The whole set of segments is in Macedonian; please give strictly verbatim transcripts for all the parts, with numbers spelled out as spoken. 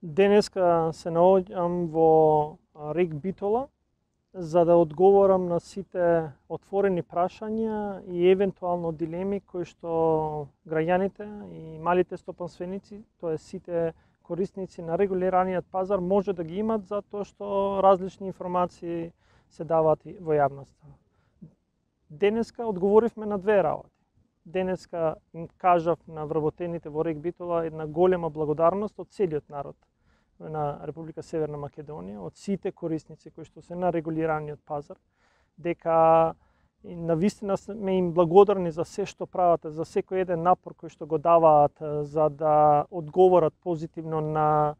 Денеска се наоѓам во Рек Битола за да одговорам на сите отворени прашања и евентуално дилеми кои што граѓаните и малите стопанственици, тоа сите корисници на регулираниот пазар може да ги имат затоа што различни информации се даваат во јавноста. Денеска одговоривме на две работи. Денеска им кажав на вработените во Рек Битола една голема благодарност од целиот народ на Република Северна Македонија, од сите корисници кои што се на регулираниот пазар, дека навистина сме им благодарни за се што прават, за секој еден напор кој што го даваат за да одговорат позитивно на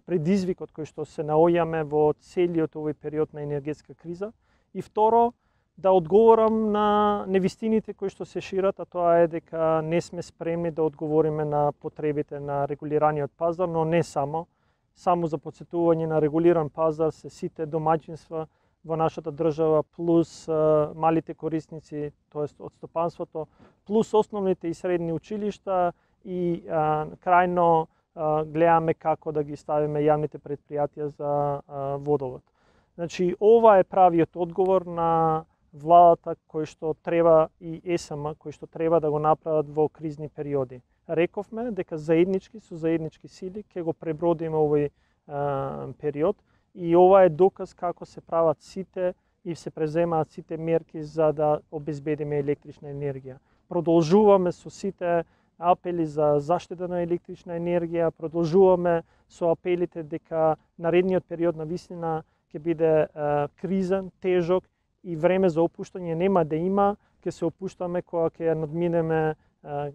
предизвикот кој што се наоѓаме во целиот овој период на енергетска криза. И второ, да одговорам на невистините кои што се шират, а тоа е дека не сме спремни да одговориме на потребите на регулираниот пазар, но не само. Само за подсетување на регулиран пазар се сите домаќинства во нашата држава, плюс а, малите корисници, тоест од стопанството, плюс основните и средни училишта и а, крајно а, гледаме како да ги ставиме јавните предпријатија за а, водовод. Значи, ова е правиот одговор на владата кој што треба и ЕСМ кој што треба да го направат во кризни периоди. Рековме дека заеднички со заеднички сили ќе го пребродиме овој а, период и ова е доказ како се прават сите и се преземаат сите мерки за да обезбедиме електрична енергија. Продолжуваме со сите апели за заштита на електрична енергија, продолжуваме со апелите дека наредниот период на вистина ќе биде а, кризен, тежок и време за опуштање нема да има, ќе се опуштаме кога ќе надминеме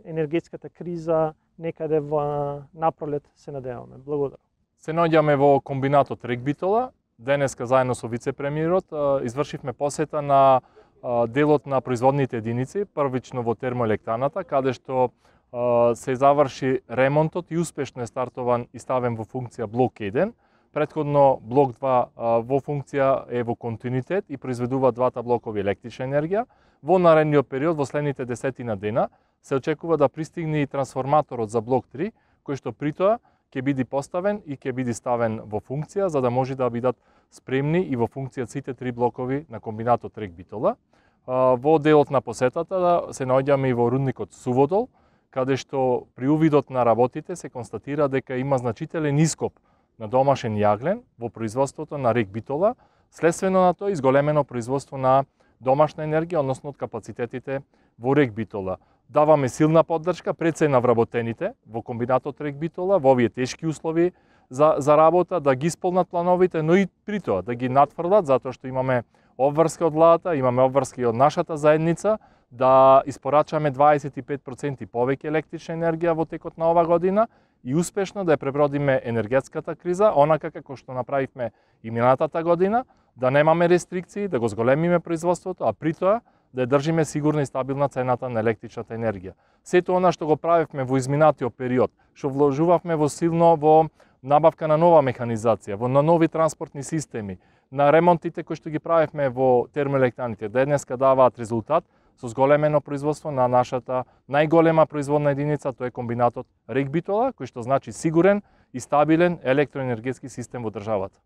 енергетската криза некаде во напролет, се надеваме. Благодарам. Се наоѓаме во комбинатот Рек Битола. Денеска заедно со вице-премиерот извршивме посета на делот на производните единици, првично во термоелектраната, каде што се заврши ремонтот и успешно е стартован и ставен во функција блок еден. Претходно блок два во функција е во континуитет и произведува двата блокови електрична енергија. Во наредниот период, во следните десетина дена, се очекува да пристигне и трансформаторот за блок три, кој што притоа ќе биде поставен и ќе биде ставен во функција, за да може да бидат спремни и во функција сите три блокови на комбинатот Рек Битола. Во делот на посетата се наоѓаме и во рудникот Суводол, каде што при увидот на работите се констатира дека има значителен ископ на домашен јаглен во производството на Рек Битола, следствено на тоа изголемено производство на домашна енергија, односно од капацитетите во Рек Битола. Даваме силна поддршка пред се на вработените во комбинатот Рек Битола во овие тешки услови за, за работа, да ги исполнат плановите, но и при тоа да ги надфрлат, затоа што имаме обврска од владата, имаме обврска и од нашата заедница, да испорачаме дваесет и пет проценти повеќе електрична енергија во текот на ова година и успешно да ја пребродиме енергетската криза, онака како што направивме и минатата година, да немаме рестрикции, да го зголемиме производството, а при тоа да ја држиме сигурна и стабилна цената на електричната енергија. Сето она што го правевме во изминатиот период, што вложувавме во силно во набавка на нова механизација, во на нови транспортни системи, на ремонтите кои што ги правевме во термоелектраните, денеска даваат резултат со зголемено производство на нашата најголема производна единица, тоа е комбинатот Рек Битола, кој што значи сигурен и стабилен електроенергетски систем во државата.